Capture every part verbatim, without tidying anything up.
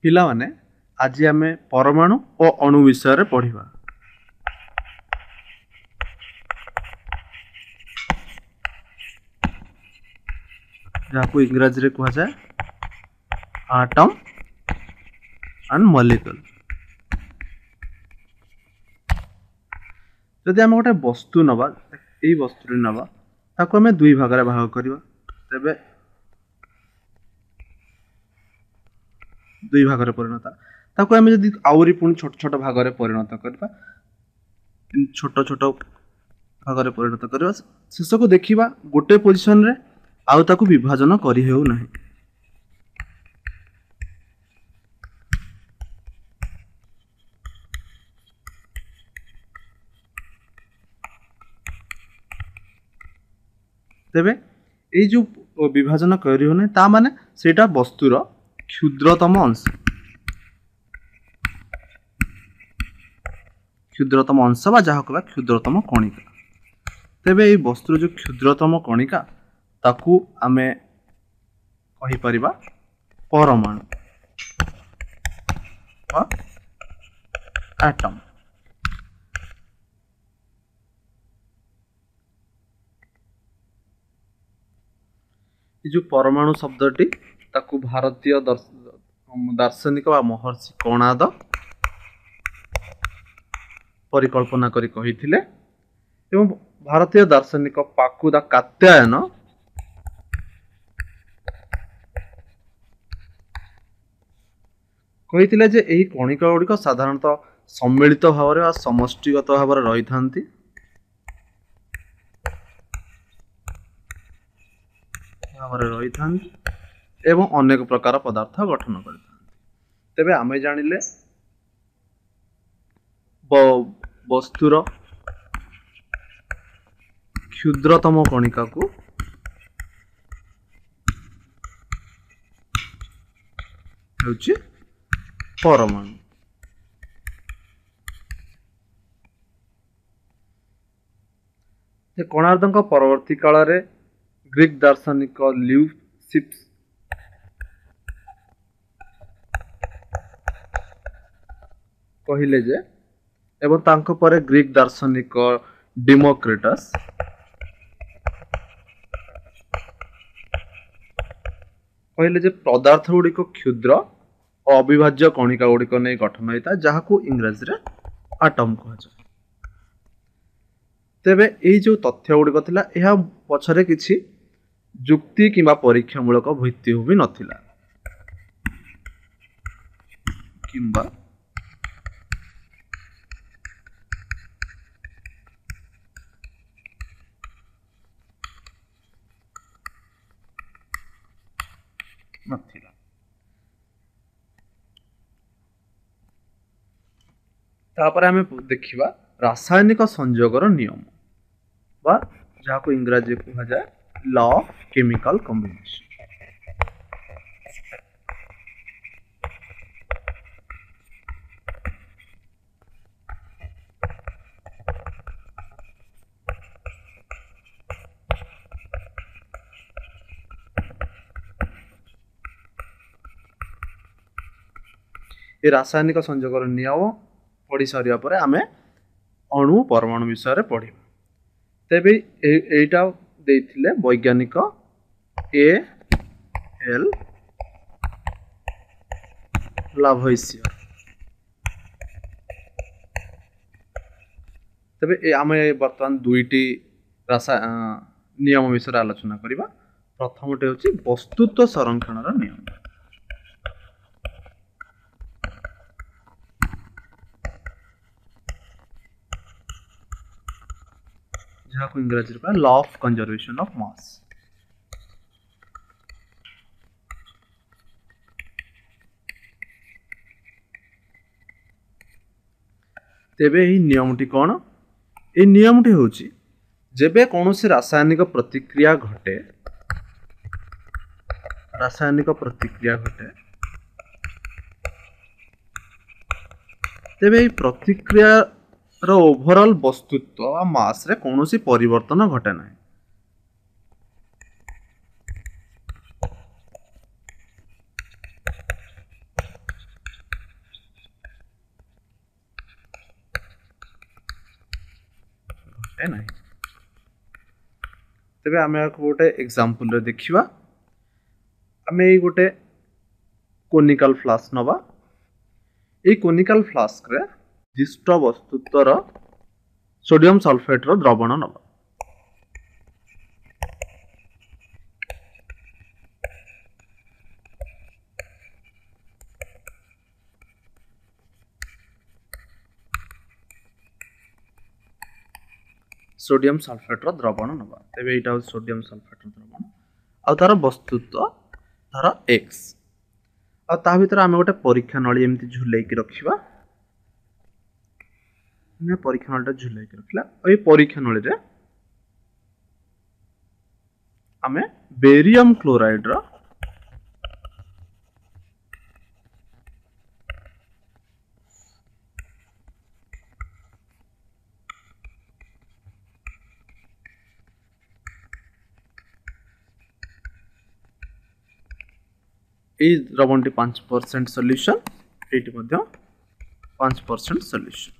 ପିଲାମାନେ, ଆଜି ଆମେ ପରମାଣୁ ଓ ଅଣୁ ବିଷୟରେ ପଢ଼ିବା। ଯାହାକୁ ଇଂରାଜୀରେ କୁହାଯାଏ ଆଟମ୍ ଆଣ୍ଡ ମଲିକୁଲ। ଯଦି ଆମେ ଗୋଟେ ବସ୍ତୁ ନେବା, ଏଇ ବସ୍ତୁଟି ନେବା, ତାକୁ ଆମେ ଦୁଇ ଭାଗରେ ଭାଗ କରିବା, ତେବେ ଦୁଇ ଭାଗରେ ପରିଣତ, ତାକୁ ଆମେ ଯଦି ଆହୁରି ପୁଣି ଛୋଟ ଛୋଟ ଭାଗରେ ପରିଣତ କରିବା, ଛୋଟ ଛୋଟ ଭାଗରେ ପରିଣତ କରିବା, ଶେଷକୁ ଦେଖିବା ଗୋଟେ ପୋଜିସନରେ ଆଉ ତାକୁ ବିଭାଜନ କରିହେଉ ନାହିଁ। ତେବେ ଏଇ ଯେଉଁ ବିଭାଜନ କରି ହେଉନାହିଁ, ତା ମାନେ ସେଇଟା ବସ୍ତୁର କ୍ଷୁଦ୍ରତମ ଅଂଶ, କ୍ଷୁଦ୍ରତମ ଅଂଶ ବା ଯାହା କହିବା କ୍ଷୁଦ୍ରତମ କଣିକା। ତେବେ ଏଇ ବସ୍ତୁର ଯେଉଁ କ୍ଷୁଦ୍ରତମ କଣିକା, ତାକୁ ଆମେ କହିପାରିବା ପରମାଣୁ ବା ଆଟମ୍। ଏ ଯେଉଁ ପରମାଣୁ ଶବ୍ଦଟି, ତାକୁ ଭାରତୀୟ ଦାର୍ଶନିକ ବା ମହର୍ଷି କଣାଦ ପରିକଳ୍ପନା କରି କହିଥିଲେ ଏବଂ ଭାରତୀୟ ଦାର୍ଶନିକ ପାକୁଦା କାତ୍ୟାୟନ କହିଥିଲେ ଯେ ଏହି କଣିକା ଗୁଡ଼ିକ ସାଧାରଣତଃ ସମ୍ମିଳିତ ଭାବରେ ବା ସମଷ୍ଟିଗତ ଭାବରେ ରହିଥାନ୍ତି ଭାବରେ ରହିଥାନ୍ତି ଏବଂ ଅନେକ ପ୍ରକାର ପଦାର୍ଥ ଗଠନ କରିଥାନ୍ତି। ତେବେ ଆମେ ଜାଣିଲେ ବସ୍ତୁର କ୍ଷୁଦ୍ରତମ କଣିକାକୁ ହେଉଛି ପରମାଣୁ। କୋଣାର୍କଙ୍କ ପରବର୍ତ୍ତୀ କାଳରେ ଗ୍ରୀକ୍ ଦାର୍ଶନିକ ଲ୍ୟୁସିପ୍ସ କହିଲେ ଯେ, ଏବଂ ତାଙ୍କ ପରେ ଗ୍ରୀକ୍ ଦାର୍ଶନିକ ଡିମୋକ୍ରିଟସ୍ କହିଲେ ଯେ ପଦାର୍ଥ ଗୁଡ଼ିକ କ୍ଷୁଦ୍ର ଓ ଅବିଭାଜ୍ୟ କଣିକା ଗୁଡ଼ିକ ନେଇ ଗଠନ ହୋଇଥାଏ, ଯାହାକୁ ଇଂରାଜୀରେ ଆଟମ୍ କୁହାଯାଏ। ତେବେ ଏଇ ଯେଉଁ ତଥ୍ୟ ଗୁଡ଼ିକ ଥିଲା, ଏହା ପଛରେ କିଛି ଯୁକ୍ତି କିମ୍ବା ପରୀକ୍ଷାମୂଳକ ଭିତ୍ତିଭୂମି ନଥିଲା କିମ୍ବା ନଥିଲା। ତାପରେ ଆମେ ଦେଖିବା ରାସାୟନିକ ସଂଯୋଗର ନିୟମ ବା ଯାହାକୁ ଇଂରାଜୀରେ କୁହାଯାଏ ଲ ଅଫ୍ କେମିକାଲ କମ୍ବିନେସନ। ଏ ରାସାୟନିକ ସଂଯୋଗର ନିୟମ ପଢ଼ି ସାରିବା ପରେ ଆମେ ଅଣୁ ପରମାଣୁ ବିଷୟରେ ପଢ଼ିବା। ତେବେ ଏଇଟା ଦେଇଥିଲେ ବୈଜ୍ଞାନିକ ଏ ଏଲ୍ ଲାଭୋଇସିୟର। ତେବେ ଆମେ ବର୍ତ୍ତମାନ ଦୁଇଟି ରାସା ନିୟମ ବିଷୟରେ ଆଲୋଚନା କରିବା। ପ୍ରଥମଟି ହେଉଛି ବସ୍ତୁତ୍ୱ ସଂରକ୍ଷଣର ନିୟମ। ଯାହାକୁ ଇଂରାଜୀରେ କୁହାଯାଏ law of conservation of mass. ତେବେ ଏହି ନିୟମଟି କ'ଣ? ଏହି ନିୟମଟି ହେଉଛି, ଯେବେ କୌଣସି ରାସାୟନିକ ପ୍ରତିକ୍ରିୟା ଘଟେ, ରାସାୟନିକ ପ୍ରତିକ୍ରିୟା ଘଟେ, ତେବେ ଏହି ପ୍ରତିକ୍ରିୟାର ଓଭରଅଲ୍ ବସ୍ତୁତ୍ୱ ବା ମାସରେ କୌଣସି ପରିବର୍ତ୍ତନ ଘଟେ ନାହିଁ। ଘଟେ ନାହିଁ। ତେବେ ଆମେ ଏହାକୁ ଗୋଟେ ଏକ୍ଜାମ୍ପଲରେ ଦେଖିବା। ଆମେ ଏଇ ଗୋଟେ କୋନିକାଲ ଫ୍ଲାସ୍କ ନେବା। ଏଇ କୋନିକାଲ ଫ୍ଲାସ୍କରେ ନିର୍ଦ୍ଦିଷ୍ଟ ବସ୍ତୁତ୍ୱର ସୋଡିୟମ ସଲଫେଟର ଦ୍ରବଣ ନେବା। ସୋଡିୟମ ସଲଫେଟର ଦ୍ରବଣ ନେବା। ତେବେ ଏଇଟା ହେଉଛି ସୋଡିୟମ ସଲଫେଟର ଦ୍ରବଣ ଆଉ ତାର ବସ୍ତୁତ୍ୱ ଧର ଏକ୍ସ। ଆଉ ତା ଭିତରେ ଆମେ ଗୋଟେ ପରୀକ୍ଷା ନଳୀ ଏମିତି ଝୁଲେଇକି ରଖିବା। ପରୀକ୍ଷା ନଳୀଟା ଝୁଲେଇକି ରଖିଲା ଆଉ ଏଇ ପରୀକ୍ଷା ନଳୀରେ ଆମେ ବେରିୟମ କ୍ଲୋରାଇଡର ଏଇ ଦ୍ରବଣଟି ପାଞ୍ଚ ପରସେଣ୍ଟ ସଲ୍ୟୁସନ୍, ଏଇଟି ମଧ୍ୟ ପାଞ୍ଚ ପରସେଣ୍ଟ ସଲ୍ୟୁସନ୍।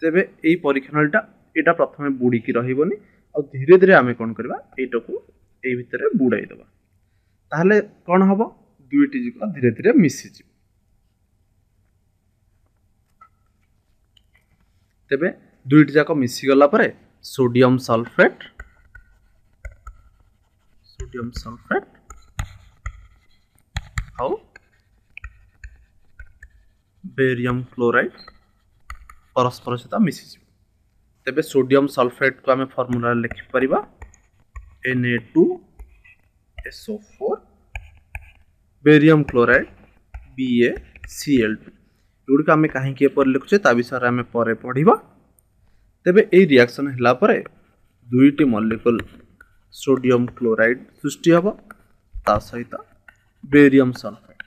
ତେବେ ଏଇ ପରୀକ୍ଷା ନଳୀଟା ଏଇଟା ପ୍ରଥମେ ବୁଡ଼ିକି ରହିବନି, ଆଉ ଧୀରେ ଧୀରେ ଆମେ କ'ଣ କରିବା, ଏଇଟାକୁ ଏଇ ଭିତରେ ବୁଡ଼ାଇ ଦେବା। ତାହେଲେ କ'ଣ ହବ, ଦୁଇଟି ଯୁଗ ଧୀରେ ଧୀରେ ମିଶିଯିବ। ତେବେ ଦୁଇଟି ଯାକ ମିଶିଗଲା ପରେ ସୋଡିୟମ ସଲଫେଟ୍ ସୋଡିୟମ ସଲଫେଟ୍ ଆଉ ବେରିୟମ କ୍ଲୋରାଇଡ୍ ପରସ୍ପର ସହିତ ମିଶିଯିବ। ତେବେ ସୋଡିୟମ ସଲଫେଟ୍କୁ ଆମେ ଫର୍ମୁଲାରେ ଲେଖିପାରିବା N A two S O four, barium chloride B A C L two. ଏଗୁଡ଼ିକ ଆମେ କାହିଁକି ଏପରି ଲେଖୁଛେ ତା ବିଷୟରେ ଆମେ ପରେ ପଢ଼ିବା। ତେବେ ଏଇ ରିଆକ୍ସନ୍ ହେଲା ପରେ ଦୁଇଟି ମଲିକୁଲ ସୋଡିୟମ କ୍ଲୋରାଇଡ୍ ସୃଷ୍ଟି ହେବ, ତା ସହିତ ବେରିୟମ ସଲଫେଟ୍।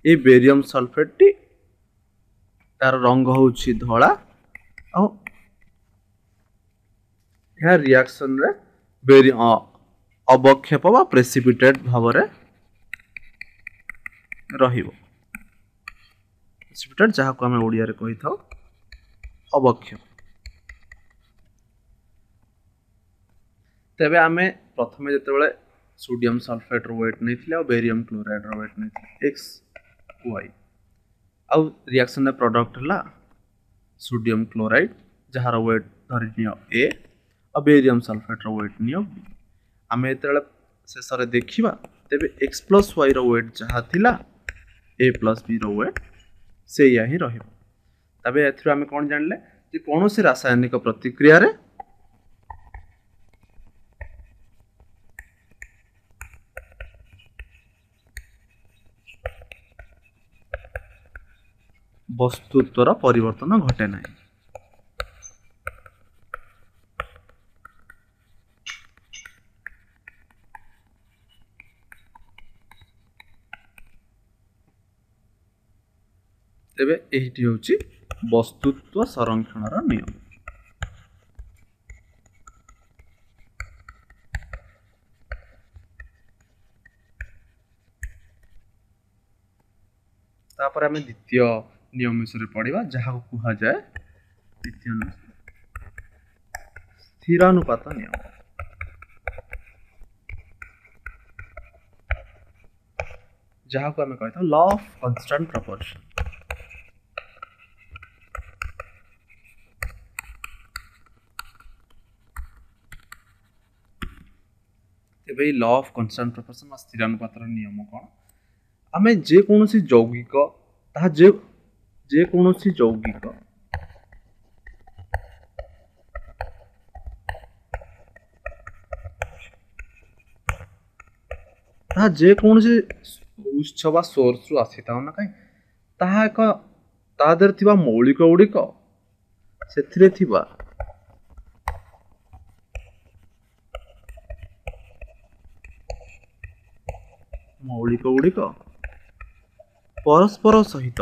ଏଇ ବେରିୟମ ସଲଫେଟ୍ଟି ତାର ରଙ୍ଗ ହେଉଛି ଧଳା ଆଉ ଏହା ରିଆକ୍ସନରେ ବେରି ଅବକ୍ଷେପ ବା ପ୍ରେସିପିଟେଟ୍ ଭାବରେ ରହିବ। ପ୍ରେସିପିଟେଟ୍ ଯାହାକୁ ଆମେ ଓଡ଼ିଆରେ କହିଥାଉ ଅବକ୍ଷେପ। ତେବେ ଆମେ ପ୍ରଥମେ ଯେତେବେଳେ ସୋଡିୟମ ସଲଫେଟ୍ର ୱେଟ୍ ନେଇଥିଲେ ଆଉ ବେରିୟମ କ୍ଲୋରାଇଡ୍ର ୱେଟ୍ ନେଇଥିଲେ ଏକ୍ସ ୱାଇ, ଆଉ ରିଆକ୍ସନରେ ପ୍ରଡକ୍ଟ ହେଲା ସୋଡିୟମ କ୍ଲୋରାଇଡ୍ ଯାହାର ୱେଟ୍ ଧରିନିଅ ଏ, ଆଉ ବେରିୟମ ସଲଫେଟ୍ର ୱେଟ୍ ନିଅ ବି। ଆମେ ଯେତେବେଳେ ଶେଷରେ ଦେଖିବା ତେବେ ଏକ୍ସ ପ୍ଲସ୍ ୱାଇର ୱେଟ୍ ଯାହା ଥିଲା ଏ ପ୍ଲସ୍ ବିର ୱେଟ୍ ସେଇଆ ହିଁ ରହିବ। ତେବେ ଏଥିରୁ ଆମେ କ'ଣ ଜାଣିଲେ ଯେ କୌଣସି ରାସାୟନିକ ପ୍ରତିକ୍ରିୟାରେ ବସ୍ତୁତ୍ୱର ପରିବର୍ତ୍ତନ ଘଟେ ନାହିଁ। ତେବେ ଏଇଟି ହେଉଛି ବସ୍ତୁତ୍ୱ ସଂରକ୍ଷଣର ନିୟମ। ତାପରେ ଆମେ ଦ୍ୱିତୀୟ ନିୟମ ବିଷୟରେ ପଢିବା, ଯାହାକୁ କୁହାଯାଏ ଦ୍ୱିତୀୟ ନିୟମ ସ୍ଥିରାନୁପାତ ନିୟମ। ଯାହାକୁ ଆମେ କହିଥାଉ ଲ ଅଫ୍ କନଷ୍ଟାଣ୍ଟ ପ୍ରପୋର୍ସନ। ତେବେ ଏଇ ଲ ଅଫ୍ କନଷ୍ଟାଣ୍ଟ ପ୍ରପୋର୍ସନ ବା ସ୍ଥିରାନୁପାତର ନିୟମ କ'ଣ? ଆମେ ଯେକୌଣସି ଯୌଗିକ ତାହା ଯେ ଯେକୌଣସି ଯୌଗିକ ତାହା ଯେକୌଣସି ଉତ୍ସ ବା ସୋର୍ସରୁ ଆସିଥାଉ ନା କାହିଁ, ତାହା ଏକ ତା ଦେହରେ ଥିବା ମୌଳିକ ଗୁଡ଼ିକ ସେଥିରେ ଥିବା ମୌଳିକ ଗୁଡ଼ିକ ପରସ୍ପର ସହିତ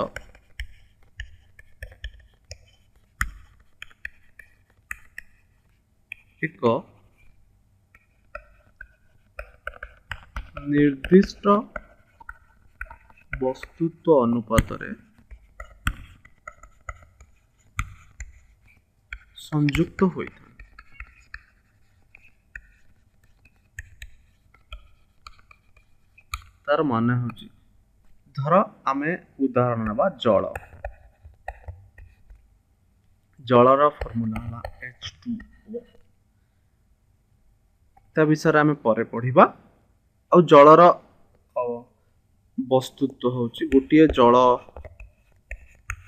ଏକ ନିର୍ଦ୍ଦିଷ୍ଟ ବସ୍ତୁତ୍ୱ ଅନୁପାତରେ ସଂଯୁକ୍ତ ହୋଇଥାନ୍ତି। ତାର ମାନେ ହେଉଛି, ଧର ଆମେ ଉଦାହରଣ ନେବା ଜଳ। ଜଳର ଫର୍ମୁଲା ହେଲା ଏଚ୍ ଟୁ ଓ, ତା ବିଷୟରେ ଆମେ ପରେ ପଢ଼ିବା। ଆଉ ଜଳର ବସ୍ତୁତ୍ୱ ହେଉଛି ଗୋଟିଏ ଜଳ,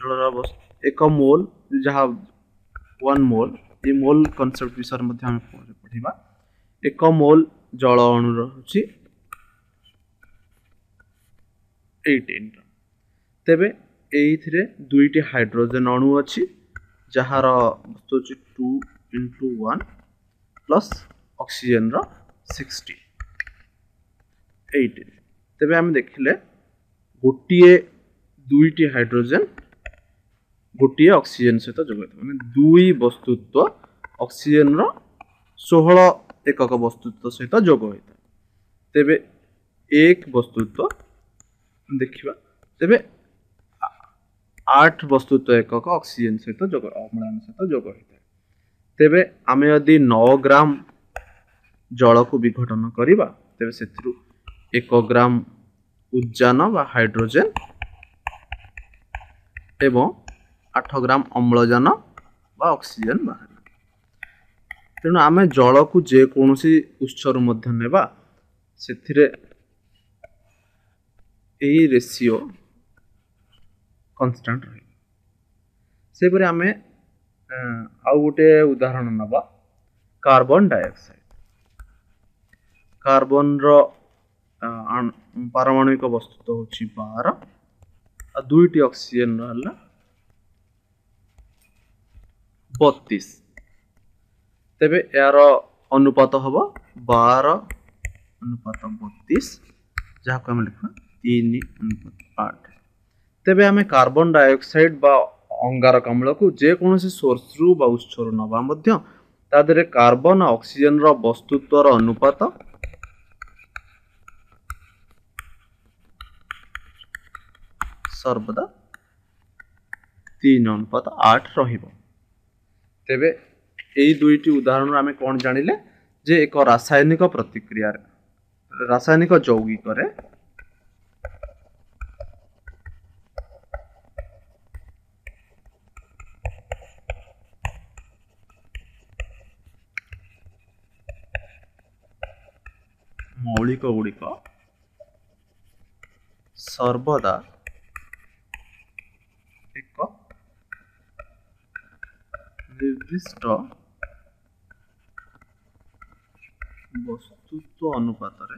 ଜଳର ଏକ ମୋଲ, ଯାହା ୱାନ୍ ମୋଲ, ଏ ମୋଲ କନସେପ୍ଟ ବିଷୟରେ ମଧ୍ୟ ଆମେ ପରେ ପଢ଼ିବା। ଏକ ମୋଲ ଜଳ ଅଣୁର ହେଉଛି ଏଇଟିନ୍। ତେବେ ଏଇଥିରେ ଦୁଇଟି ହାଇଡ୍ରୋଜେନ୍ ଅଣୁ ଅଛି, ଯାହାର ବସ୍ତୁ ହେଉଛି ଟୁ ଇଣ୍ଟୁ ୱାନ୍ ପ୍ଲସ୍ ଅକ୍ସିଜେନ୍ର ସିକ୍ସଟି ଏଇଟିନ୍। ତେବେ ଆମେ ଦେଖିଲେ ଗୋଟିଏ ଦୁଇଟି ହାଇଡ୍ରୋଜେନ୍ ଗୋଟିଏ ଅକ୍ସିଜେନ୍ ସହିତ ଯୋଗ ହୋଇଥାଏ, ମାନେ ଦୁଇ ବସ୍ତୁତ୍ୱ ଅକ୍ସିଜେନ୍ର ଷୋହଳ ଏକକ ବସ୍ତୁତ୍ୱ ସହିତ ଯୋଗ ହୋଇଥାଏ। ତେବେ ଏକ ବସ୍ତୁତ୍ୱ ଦେଖିବା, ତେବେ ଆଠ ବସ୍ତୁତ୍ୱ ଏକକ ଅକ୍ସିଜେନ୍ ସହିତ ଯୋଗ, ଅମ୍ଳାନ ସହିତ ଯୋଗ ହୋଇଥାଏ। ତେବେ ଆମେ ଯଦି ନଅ ଗ୍ରାମ ଜଳକୁ ବିଘଟନ କରିବା, ତେବେ ସେଥିରୁ ଏକ ଗ୍ରାମ ଉଦ୍ଜାନ ବା ହାଇଡ୍ରୋଜେନ୍ ଏବଂ ଆଠ ଗ୍ରାମ ଅମ୍ଳଜାନ ବା ଅକ୍ସିଜେନ୍ ବାହାରିବ। ତେଣୁ ଆମେ ଜଳକୁ ଯେକୌଣସି ଉତ୍ସରୁ ମଧ୍ୟ ନେବା, ସେଥିରେ ଏଇ ରେସିଓ କନଷ୍ଟାଣ୍ଟ ରହିବ। ସେହିପରି ଆମେ ଆଉ ଗୋଟେ ଉଦାହରଣ ନେବା, କାର୍ବନ ଡାଇଅକ୍ସାଇଡ୍। କାର୍ବନର ପାରମାଣବିକ ବସ୍ତୁତ୍ୱ ହେଉଛି ବାର, ଆଉ ଦୁଇଟି ଅକ୍ସିଜେନ୍ର ହେଲା ବତିଶ। ତେବେ ଏହାର ଅନୁପାତ ହେବ ବାର ଅନୁପାତ ବତିଶ, ଯାହାକୁ ଆମେ ଲେଖିବା ତିନି ଅନୁପାତ ଆଠ। ତେବେ ଆମେ କାର୍ବନ ଡାଇଅକ୍ସାଇଡ୍ ବା ଅଙ୍ଗାରକାମ୍ଳକୁ ଯେକୌଣସି ସୋର୍ସରୁ ବା ଉତ୍ସରୁ ନେବା ମଧ୍ୟ, ତା ଦେହରେ କାର୍ବନ ଅକ୍ସିଜେନର ବସ୍ତୁତ୍ୱର ଅନୁପାତ ସର୍ବଦା ତିନି ଅନୁପାତ ଆଠ ରହିବ। ତେବେ ଏଇ ଦୁଇଟି ଉଦାହରଣରୁ ଆମେ କ'ଣ ଜାଣିଲେ ଯେ ଏକ ରାସାୟନିକ ପ୍ରତିକ୍ରିୟାରେ, ରାସାୟନିକ ଯୌଗିକରେ ମୌଳିକ ଗୁଡ଼ିକ ସର୍ବଦା ଏକ ନିର୍ଦ୍ଦିଷ୍ଟ ବସ୍ତୁତ୍ୱ ଅନୁପାତରେ